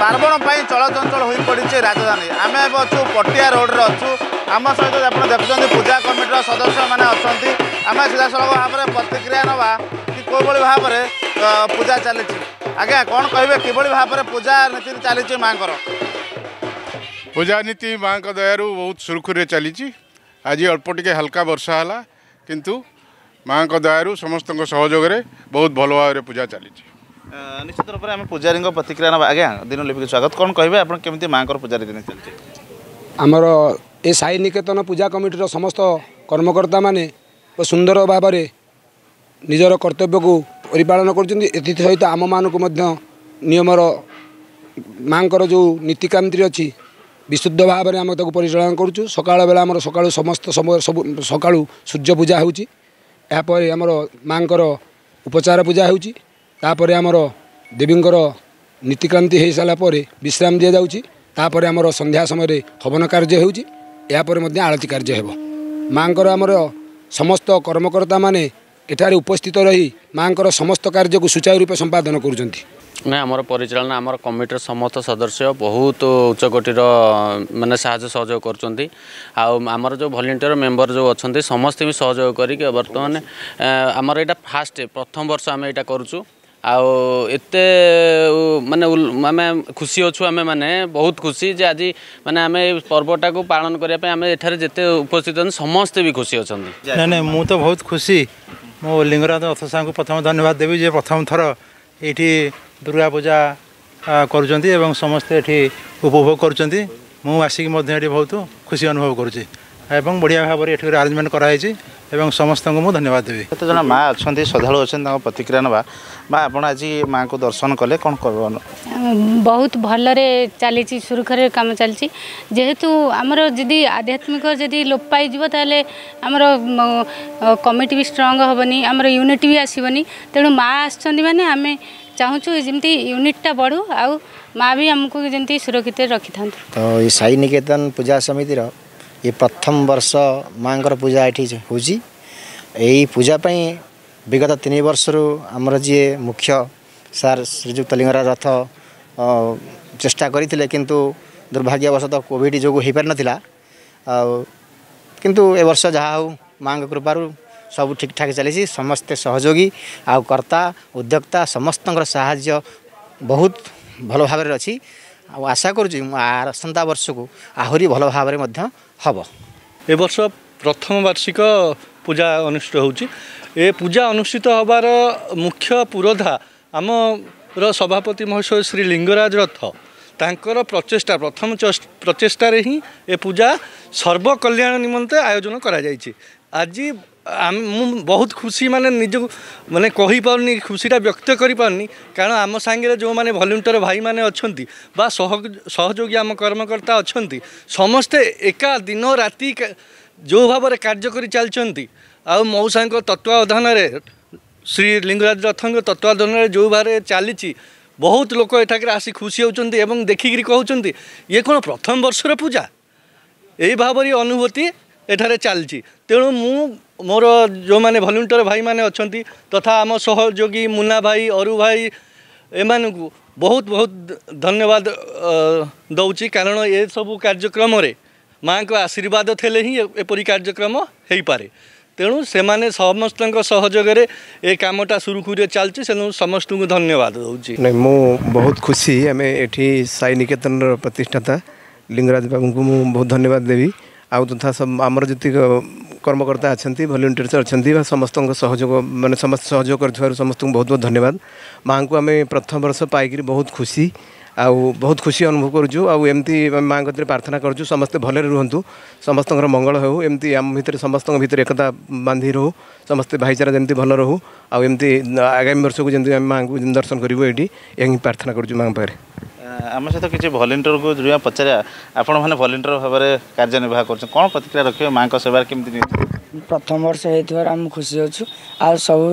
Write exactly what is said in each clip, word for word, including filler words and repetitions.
ପାର୍ବଣ ପାଇଁ ଚଳଚଞ୍ଚଳ ହୋଇପଡ଼ିଛି ରାଜଧାନୀ। ଆମେ ଏବେ ଅଛୁ ପଟିଆ ରୋଡ଼ରେ ଅଛୁ। ଆମ ସହିତ ଆପଣ ଦେଖୁଛନ୍ତି ପୂଜା କମିଟିର ସଦସ୍ୟମାନେ ଅଛନ୍ତି। ଆମେ ସିଧାସଳଖ ଭାବରେ ପ୍ରତିକ୍ରିୟା ନେବା କି କେଉଁଭଳି ଭାବରେ ପୂଜା ଚାଲିଛି। ଆଜ୍ଞା, କ'ଣ କହିବେ, କିଭଳି ଭାବରେ ପୂଜା ନୀତି ଚାଲିଛି ମାଆଙ୍କର? ପୂଜା ନୀତି ମାଆଙ୍କ ଦୟାରୁ ବହୁତ ସୁରୁଖୁରୁରେ ଚାଲିଛି। ଆଜି ଅଳ୍ପ ଟିକେ ହାଲକା ବର୍ଷା ହେଲା, କିନ୍ତୁ ମାଆଙ୍କ ଦୟାରୁ ସମସ୍ତଙ୍କ ସହଯୋଗରେ ବହୁତ ଭଲ ଭାବରେ ପୂଜା ଚାଲିଛି। ନିଶ୍ଚିତ ରୂପରେ ଆମେ ପୂଜାରୀଙ୍କ ପ୍ରତିକ୍ରିୟା ନେବା। ଆଜ୍ଞା, ଦିନଲିପିକୁ ସ୍ୱାଗତ। କ'ଣ କହିବେ ଆପଣ, କେମିତି ମାଆଙ୍କର ପୂଜା ରୀତି ଚାଲିଛି? ଆମର ଏ ସାଇ ନିକେତନ ପୂଜା କମିଟିର ସମସ୍ତ କର୍ମକର୍ତ୍ତାମାନେ ସୁନ୍ଦର ଭାବରେ ନିଜର କର୍ତ୍ତବ୍ୟକୁ ପରିପାଳନ କରୁଛନ୍ତି। ଏଥିସହିତ ଆମମାନଙ୍କୁ ମଧ୍ୟ ନିୟମର ମାଆଙ୍କର ଯେଉଁ ନୀତିକାନ୍ତି ଅଛି, ବିଶୁଦ୍ଧ ଭାବରେ ଆମେ ତାକୁ ପରିଚାଳନା କରୁଛୁ। ସକାଳ ବେଳା ଆମର ସକାଳୁ ସମସ୍ତ ସମୟ ସବୁ ସକାଳୁ ସୂର୍ଯ୍ୟ ପୂଜା ହେଉଛି। ଏହାପରେ ଆମର ମାଆଙ୍କର ଉପଚାର ପୂଜା ହେଉଛି। ତାପରେ ଆମର ଦେବୀଙ୍କର ନୀତିକ୍ରାନ୍ତି ହୋଇସାରିଲା ପରେ ବିଶ୍ରାମ ଦିଆଯାଉଛି। ତାପରେ ଆମର ସନ୍ଧ୍ୟା ସମୟରେ ହବନ କାର୍ଯ୍ୟ ହେଉଛି। ଏହାପରେ ମଧ୍ୟ ଆଳତି କାର୍ଯ୍ୟ ହେବ ମାଆଙ୍କର। ଆମର ସମସ୍ତ କର୍ମକର୍ତ୍ତାମାନେ ଏଠାରେ ଉପସ୍ଥିତ ରହି ମାଆଙ୍କର ସମସ୍ତ କାର୍ଯ୍ୟକୁ ସୁଚାରୁ ରୂପେ ସମ୍ପାଦନ କରୁଛନ୍ତି। ନାଇଁ, ଆମର ପରିଚାଳନା ଆମର କମିଟିର ସମସ୍ତ ସଦସ୍ୟ ବହୁତ ଉଚ୍ଚକୋଟୀର ମାନେ ସାହାଯ୍ୟ ସହଯୋଗ କରୁଛନ୍ତି। ଆଉ ଆମର ଯେଉଁ ଭଲେଣ୍ଟିୟର ମେମ୍ବର ଯେଉଁ ଅଛନ୍ତି, ସମସ୍ତେ ବି ସହଯୋଗ କରିକି ବର୍ତ୍ତମାନ ଆମର ଏଇଟା ଫାଷ୍ଟ ପ୍ରଥମ ବର୍ଷ ଆମେ ଏଇଟା କରୁଛୁ। ଆଉ ଏତେ ମାନେ ଆମେ ଖୁସି ଅଛୁ, ଆମେ ମାନେ ବହୁତ ଖୁସି ଯେ ଆଜି ମାନେ ଆମେ ଏଇ ପର୍ବଟାକୁ ପାଳନ କରିବା ପାଇଁ ଆମେ ଏଠାରେ ଯେତେ ଉପସ୍ଥିତ ଅଛନ୍ତି, ସମସ୍ତେ ବି ଖୁସି ଅଛନ୍ତି। ନାଇଁ ନାଇଁ, ମୁଁ ତ ବହୁତ ଖୁସି। ମୁଁ ଲିଙ୍ଗରାଜ ରଥ ସାର୍ଙ୍କୁ ପ୍ରଥମ ଧନ୍ୟବାଦ ଦେବି ଯେ ପ୍ରଥମ ଥର ଏଇଠି ଦୁର୍ଗା ପୂଜା କରୁଛନ୍ତି ଏବଂ ସମସ୍ତେ ଏଠି ଉପଭୋଗ କରୁଛନ୍ତି। ମୁଁ ଆସିକି ମଧ୍ୟ ଏଠି ବହୁତ ଖୁସି ଅନୁଭବ କରୁଛି ଏବଂ ବଢ଼ିଆ ଭାବରେ ଏଠି ଆରେଞ୍ଜମେଣ୍ଟ କରାହେଇଛି ଏବଂ ସମସ୍ତଙ୍କୁ ମୁଁ ଧନ୍ୟବାଦ ଦେବି। କେତେ ଜଣ ମା ଅଛନ୍ତି, ଶ୍ରଦ୍ଧାଳୁ ଅଛନ୍ତି, ତାଙ୍କ ପ୍ରତିକ୍ରିୟା ନେବା। ମା, ଆପଣ ଆଜି ମାଆଙ୍କୁ ଦର୍ଶନ କଲେ, କ'ଣ କହିବ? ବହୁତ ଭଲରେ ଚାଲିଛି, ସୁରୁଖୁରୁରେ କାମ ଚାଲିଛି। ଯେହେତୁ ଆମର ଯଦି ଆଧ୍ୟାତ୍ମିକ ଯଦି ଲୋପ ପାଇଯିବ, ତାହେଲେ ଆମର କମିଟି ବି ଷ୍ଟ୍ରଙ୍ଗ ହେବନି, ଆମର ୟୁନିଟି ବି ଆସିବନି। ତେଣୁ ମା ଆସିଛନ୍ତି ମାନେ ଆମେ ଚାହୁଁଛୁ ଯେମିତି ୟୁନିଟ୍ଟା ବଢ଼ୁ ଆଉ ମା ବି ଆମକୁ ଯେମିତି ସୁରକ୍ଷିତ ରଖିଥାନ୍ତୁ। ତ ଏଇ ସାଇ ନିକେତନ ପୂଜା ସମିତିର ଏ ପ୍ରଥମ ବର୍ଷ ମାଆଙ୍କର ପୂଜା ଏଠି ହେଉଛି। ଏଇ ପୂଜା ପାଇଁ ବିଗତ ତିନି ବର୍ଷରୁ ଆମର ଯିଏ ମୁଖ୍ୟ ସାର୍ ଶ୍ରୀଯୁକ୍ତ ଲିଙ୍ଗରାଜ ରଥ ଚେଷ୍ଟା କରିଥିଲେ, କିନ୍ତୁ ଦୁର୍ଭାଗ୍ୟବଶତଃ କୋଭିଡ଼ ଯୋଗୁଁ ହୋଇପାରିନଥିଲା। ଆଉ କିନ୍ତୁ ଏ ବର୍ଷ ଯାହା ହେଉ ମାଆଙ୍କ କୃପାରୁ ସବୁ ଠିକ୍ଠାକ୍ ଚାଲିଛି। ସମସ୍ତେ ସହଯୋଗୀ ଆଉ କର୍ତ୍ତା ଉଦ୍ୟୋକ୍ତା ସମସ୍ତଙ୍କର ସାହାଯ୍ୟ ବହୁତ ଭଲ ଭାବରେ ଅଛି। ଆଉ ଆଶା କରୁଛି ମୁଁ ଆସନ୍ତା ବର୍ଷକୁ ଆହୁରି ଭଲ ଭାବରେ ମଧ୍ୟ ହେବ। ଏ ବର୍ଷ ପ୍ରଥମ ବାର୍ଷିକ ପୂଜା ଅନୁଷ୍ଠିତ ହେଉଛି। ଏ ପୂଜା ଅନୁଷ୍ଠିତ ହେବାର ମୁଖ୍ୟ ପୁରୋଧା ଆମର ସଭାପତି ମହାଶୟ ଶ୍ରୀ ଲିଙ୍ଗରାଜ ରଥ। ତାଙ୍କର ପ୍ରଚେଷ୍ଟା, ପ୍ରଥମ ପ୍ରଚେଷ୍ଟାରେ ହିଁ ଏ ପୂଜା ସର୍ବକଲ୍ୟାଣ ନିମନ୍ତେ ଆୟୋଜନ କରାଯାଇଛି। ଆଜି ମୁଁ ବହୁତ ଖୁସି, ମାନେ ନିଜକୁ ମାନେ କହିପାରୁନି, ଖୁସିଟା ବ୍ୟକ୍ତ କରିପାରୁନି, କାରଣ ଆମ ସାଙ୍ଗରେ ଯେଉଁମାନେ ଭଲ୍ୟୁଣ୍ଟିୟର ଭାଇମାନେ ଅଛନ୍ତି ବା ସହଯୋଗୀ ଆମ କର୍ମକର୍ତ୍ତା ଅଛନ୍ତି, ସମସ୍ତେ ଏକା ଦିନ ରାତି ଯେଉଁ ଭାବରେ କାର୍ଯ୍ୟ କରି ଚାଲିଛନ୍ତି ଆଉ ମଉସାଙ୍କ ତତ୍ତ୍ୱାବଧାନରେ, ଶ୍ରୀ ଲିଙ୍ଗରାଜ ରଥଙ୍କ ତତ୍ତ୍ୱାବଧାନରେ ଯେଉଁ ଭାବରେ ଚାଲିଛି, ବହୁତ ଲୋକ ଏଠାକରେ ଆସି ଖୁସି ହେଉଛନ୍ତି ଏବଂ ଦେଖିକିରି କହୁଛନ୍ତି, ଇଏ କ'ଣ ପ୍ରଥମ ବର୍ଷର ପୂଜା? ଏଇ ଭାବରେ ଅନୁଭୂତି ଏଠାରେ ଚାଲିଛି। ତେଣୁ ମୁଁ ମୋର ଯେଉଁମାନେ ଭଲ୍ୟୁଣ୍ଟିୟର ଭାଇମାନେ ଅଛନ୍ତି ତଥା ଆମ ସହଯୋଗୀ ମୁନା ଭାଇ, ଅରୁ ଭାଇ, ଏମାନଙ୍କୁ ବହୁତ ବହୁତ ଧନ୍ୟବାଦ ଦେଉଛି, କାରଣ ଏସବୁ କାର୍ଯ୍ୟକ୍ରମରେ ମାଆଙ୍କ ଆଶୀର୍ବାଦ ଥିଲେ ହିଁ ଏପରି କାର୍ଯ୍ୟକ୍ରମ ହେଇପାରେ। ତେଣୁ ସେମାନେ ସମସ୍ତଙ୍କ ସହଯୋଗରେ ଏ କାମଟା ସୁରୁଖୁରୁରେ ଚାଲିଛି। ତେଣୁ ସମସ୍ତଙ୍କୁ ଧନ୍ୟବାଦ ଦେଉଛି। ନାଇଁ, ମୁଁ ବହୁତ ଖୁସି। ଆମେ ଏଠି ସାଇ ନିକେତନର ପ୍ରତିଷ୍ଠାତା ଲିଙ୍ଗରାଜ ବାବୁଙ୍କୁ ମୁଁ ବହୁତ ଧନ୍ୟବାଦ ଦେବି। ଆଉ ତଥା ଆମର ଯେତିକ କର୍ମକର୍ତ୍ତା ଅଛନ୍ତି, ଭଲ୍ୟୁଣ୍ଟିୟର୍ସ ଅଛନ୍ତି ବା ସମସ୍ତଙ୍କ ସହଯୋଗ, ମାନେ ସମସ୍ତେ ସହଯୋଗ କରିଥିବାରୁ ସମସ୍ତଙ୍କୁ ବହୁତ ବହୁତ ଧନ୍ୟବାଦ। ମାଆଙ୍କୁ ଆମେ ପ୍ରଥମ ବର୍ଷ ପାଇକରି ବହୁତ ଖୁସି ଆଉ ବହୁତ ଖୁସି ଅନୁଭବ କରୁଛୁ। ଆଉ ଏମିତି ମାଆଙ୍କ କତିରେ ପ୍ରାର୍ଥନା କରୁଛୁ, ସମସ୍ତେ ଭଲରେ ରୁହନ୍ତୁ, ସମସ୍ତଙ୍କର ମଙ୍ଗଳ ହେଉ। ଏମିତି ଆମ ଭିତରେ, ସମସ୍ତଙ୍କ ଭିତରେ ଏକତା ବାନ୍ଧି ରହୁ, ସମସ୍ତେ ଭାଇଚାରା ଯେମିତି ଭଲ ରହୁ। ଆଉ ଏମିତି ଆଗାମୀ ବର୍ଷକୁ ଯେମିତି ଆମେ ମାଆଙ୍କୁ ଦର୍ଶନ କରିବୁ ଏଇଠି, ଏହା ହିଁ ପ୍ରାର୍ଥନା କରୁଛୁ ମାଆଙ୍କ ପାଖରେ। ଆମ ସହିତ କିଛି ଭଲେଣ୍ଟିୟରକୁ ଯୋଡ଼ିବା, ପଚାରିବା। ଆପଣମାନେ ଭଲେଣ୍ଟିୟର ଭାବରେ କାର୍ଯ୍ୟ ନିର୍ବାହ କରୁଛନ୍ତି, କ'ଣ ପ୍ରତିକ୍ରିୟା ରଖିବେ, ମାଆଙ୍କ ସେବାରେ କେମିତି? ପ୍ରଥମ ବର୍ଷ ହେଇଥିବାରୁ ଆମେ ଖୁସି ଅଛୁ। ଆଉ ସବୁ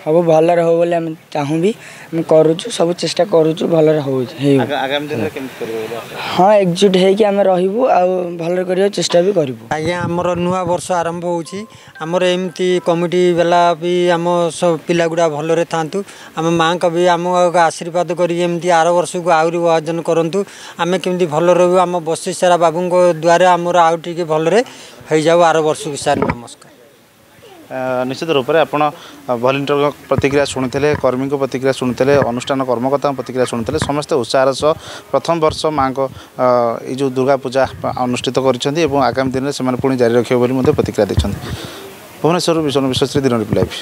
ସବୁ ଭଲରେ ହଉ ବୋଲି ଆମେ ଚାହୁଁ ବି, ଆମେ କରୁଛୁ, ସବୁ ଚେଷ୍ଟା କରୁଛୁ ଭଲରେ ହଉ ହେଉ। ଆଗାମୀ ଦିନରେ କେମିତି କରିବେ ବୋଲି ଆଶା? ହଁ, ଏକଜୁଟ ହେଇକି ଆମେ ରହିବୁ ଆଉ ଭଲରେ କରିବାକୁ ଚେଷ୍ଟା ବି କରିବୁ। ଆଜ୍ଞା, ଆମର ନୂଆ ବର୍ଷ ଆରମ୍ଭ ହେଉଛି। ଆମର ଏମିତି କମିଟି ବାଲା ବି ଆମ ସବୁ ପିଲା ଗୁଡ଼ା ଭଲରେ ଥାଆନ୍ତୁ। ଆମ ମାଆଙ୍କ ବି ଆମକୁ ଆଶୀର୍ବାଦ କରିକି ଏମିତି ଆର ବର୍ଷକୁ ଆହୁରି ଆୟୋଜନ କରନ୍ତୁ। ଆମେ କେମିତି ଭଲ ରହିବୁ, ଆମ ବର୍ଷ ସାରା ବାବୁଙ୍କ ଦ୍ୱାରା ଆମର ଆଉ ଟିକେ ଭଲରେ ହେଇଯାଉ ଆର ବର୍ଷକୁ। ସାର୍ ନମସ୍କାର। ନିଶ୍ଚିତ ରୂପରେ ଆପଣ ଭଲେଣ୍ଟିୟରଙ୍କ ପ୍ରତିକ୍ରିୟା ଶୁଣିଥିଲେ, କର୍ମୀଙ୍କ ପ୍ରତିକ୍ରିୟା ଶୁଣିଥିଲେ, ଅନୁଷ୍ଠାନ କର୍ମକର୍ତ୍ତାଙ୍କ ପ୍ରତିକ୍ରିୟା ଶୁଣିଥିଲେ। ସମସ୍ତେ ଉତ୍ସାହର ସହ ପ୍ରଥମ ବର୍ଷ ମାଆଙ୍କ ଏଇ ଯେଉଁ ଦୁର୍ଗା ପୂଜା ଅନୁଷ୍ଠିତ କରିଛନ୍ତି ଏବଂ ଆଗାମୀ ଦିନରେ ସେମାନେ ପୁଣି ଜାରି ରଖିବେ ବୋଲି ମଧ୍ୟ ପ୍ରତିକ୍ରିୟା ଦେଇଛନ୍ତି। ଭୁବନେଶ୍ୱରରୁ ବିଶ୍ୱ ବିଶ୍ୱଶ୍ରୀ, ଦିନ ଲାଇଭ୍।